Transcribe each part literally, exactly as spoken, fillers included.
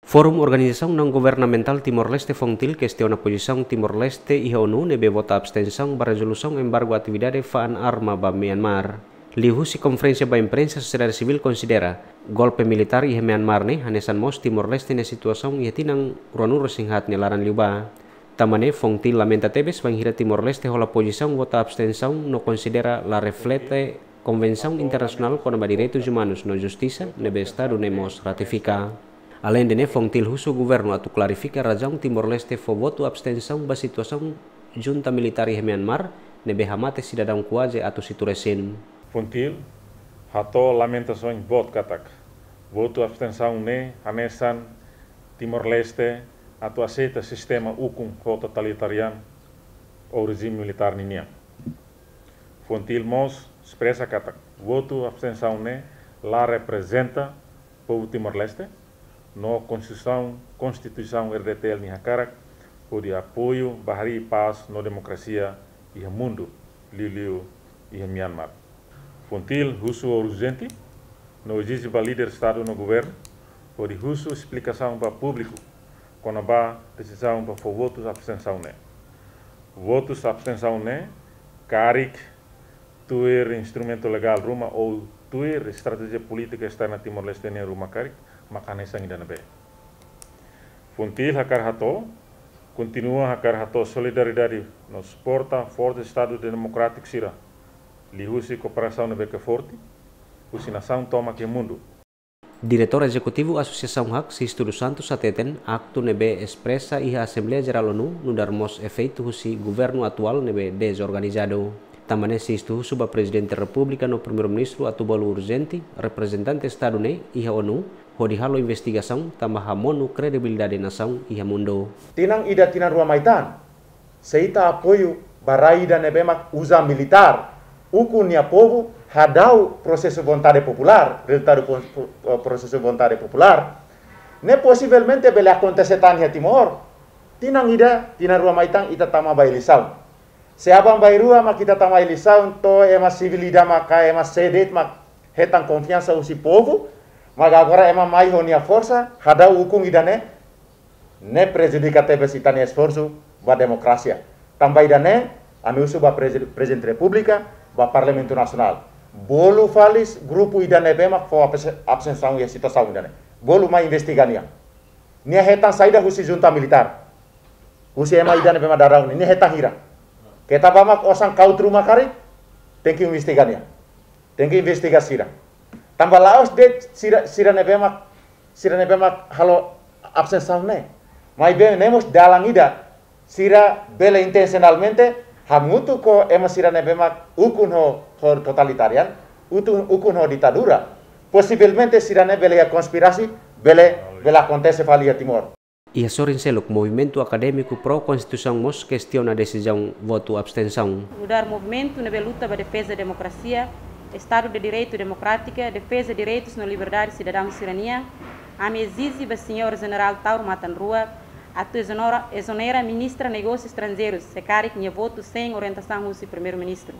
Forum Organizasaun Naun Governamentál Timor-Leste, Fontil, kestiona pozisaun Timor-Leste iha ONU ne'ebé vota abstensaun ba rezolusaun embargu atividade fa'an arma ba Myanmar. Liuhusi konferénsia ba imprensa, sosiedade sivíl konsidera golpe militár iha Myanmar ne'e hanesan mós Timor-Leste nia situasaun iha tinan ruanulu-resin-haat nia laran liubá. Tanba ne'e, Fontil lamenta tebes bainhira Timor-Leste hola pozisaun vota abstensaun no konsidera la reflete Konvensaun Internasionál kona-ba Direitus Umanus no Justisa ne'ebé Estadu ne'e mós ratifika. Aleinde ne'e, Fontil husu governu atu klarifika razaun Timor-Leste fó votu abstensaun ba situasaun junta militár iha Myanmar ne'ebé hamate sidadaun kuaze atus hitu resin. Fontil hato'o lamentasaun boot katak votu abstensaun ne'e hanesan Timor-Leste atu aseita sistema ukun ho totalitarian ou rejime militár ninian. Fontil mós espresa katak votu abstensaun ne'e la reprezenta povu Timor-Leste, no Konstituisaun, Konstituisaun R D T L nia hakarak hodi apoiu ba harii pás no demokrasia iha mundu, liuliu iha Myanmar. Fontil husu urjente no ezije ba líder Estadu no governu hodi husu esplikasaun ba públiku kona-ba desizaun ba fó votu abstensaun ne'e. Votu abstensaun ne'e karik tuir instrumentu legál ruma ou tuir estratéjia polítika esterna Timor-Leste nian ruma karik, maka hanesan ida-ne'ebé. Fontil hakarak hato'o, kontinua hakarak hato'o solidariedade no suporta forsa Estadu Demokrátiku sira, liuhusi kooperasaun ne'ebé ke forte husi nasaun tomak iha mundu. Diretór Ezekutivu Asosiasaun hak, Sisto dos Santos, hateten aktu ne'ebé espresa iha Asembleia Jerál ONU nu'udar mós efeitu husi governu atuál ne'ebé dezorganizadu. Tanba ne'e, Sisto husu ba Prezidente Repúblika no Primeiru-Ministru atu bolu urjente reprezentante Estadu ne'e iha ONU hodi halo investigasaun tanba hamonu kredibilidade nasaun iha mundu. Tinan ida, tinan rua mai tan, se ita apoiu ba rai ida ne'ebé mak uza militár ukun nia povu, hadau prosesu vontade populár, rezultadu pro-, pro-, prosesu vontade populár, ne'e posivelmente bele akontese tan iha Timor. Tinan ida, tinan rua mai tan ita tama ba eleisaun. Se aban-bainrua mak ita tama eleisaun, to'o ema sivíl ida mak ka ema sé de'it mak hetan konfiansa husi povu, mak agora ema mai ho nia forsa, hadau ukun ida-ne'e, ne'e prejudika tebes ita-nia esforsu ba demokrasia. Tanba ida-ne'e, ami husu ba Prezi-, Prezidente Repúblika, ba Parlamentu Nasionál, bolu fali grupu ida ne'ebé mak fó abse-, abstensaun iha situasaun ida-ne'e. Bolu mai investiga nia. Nia hetan saida husi junta militár? Husi ema ida ne'ebé mak dadaun ne'e, nia hetan hira? Keta ba mak osan kaut ruma karik, tenke investiga nia. Tenke investiga sira. Tanba la'ós de'it sira, sira ne'ebé mak, sira ne'ebé mak halo abstensaun ne'e. Maibé ne'e mós dalan ida, sira bele intensionalmente hamutuk ho ema sira ne'ebé mak ukun ho, ho totalitarian, utu-, ukun ho ditadura. Posivelmente sira-ne'e bele iha konspirasi, bele, bele akontese fali iha Timor. Iha sorin seluk, movimentu akadémiku pro-konstituisaun mós kestiona desizaun votu abstensaun. Nu'udar movimentu ne'ebé luta ba defeza demokrasia, Estadu de Direitu Demokrátika, defeza direitus no liberdade sidadaun sira-nian, ami ezije ba Señór Jenerál Taur Matan Ruak atu ezonera, ezonera Ministra Negósius Estranjeirus, se karik nia votu sein orientasaun husi Primeiru-Ministru.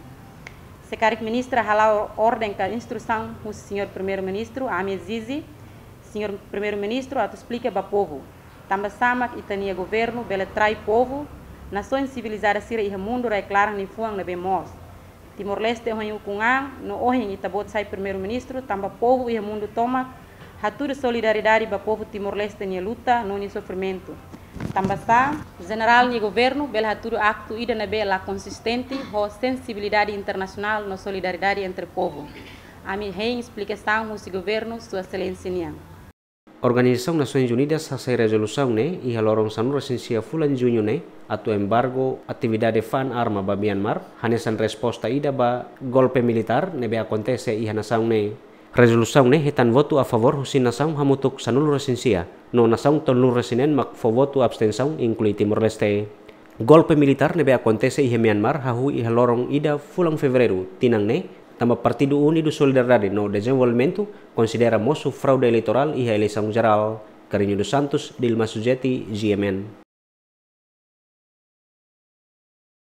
Se karik Ministra hala'o orden ka instrusaun husi Señór Primeiru-Ministru, ami ezije Señór Primeiru-Ministru atu esplika ba povu. Tanba sá mak ita-nia governu bele trai povu, nasaun sivilizada sira iha mundu rai-klaran nia fuan ne'ebé moos. Timor-Leste ohin ukun an, no ohin ita-boot sai Primeiru-Ministru, tanba povu iha mundu tomak hatudu solidariedade ba povu Timor-Leste nia luta no nia sofrimentu. Tanba sá, Jenerál nia governu bele hatudu aktu ida ne'ebé la konsistente ho sensibilidade internasionál no solidariedade entre povu. Ami hein esplikasaun husi governu, Sua Exelénsia nian. Organizasaun Nasoins Unidas hasai rezolusaun ne'e iha loron sanulu-resin-sia fulan Juñu ne'e atu embargu atividade fa'an arma ba Myanmar, hanesan resposta ida ba golpe militár ne'ebé akontese iha nasaun ne'e. Rezolusaun ne'e hetan votu a favór husi nasaun hamutuk sanulu-resin-sia, no nasaun tolunulu-resin-neen mak fó votu abstensaun, inklui Timor-Leste. Golpe militár ne'ebé akontese iha Myanmar hahú iha loron ida fulan Fevereiru tinan ne'e, tanba Partidu Unidu Solidariedade no Dezenvolvimentu konsidera mosu fraude eleitorál iha eleisaun jerál. Carreño dos Santos, Dilma Sujeti, G M N.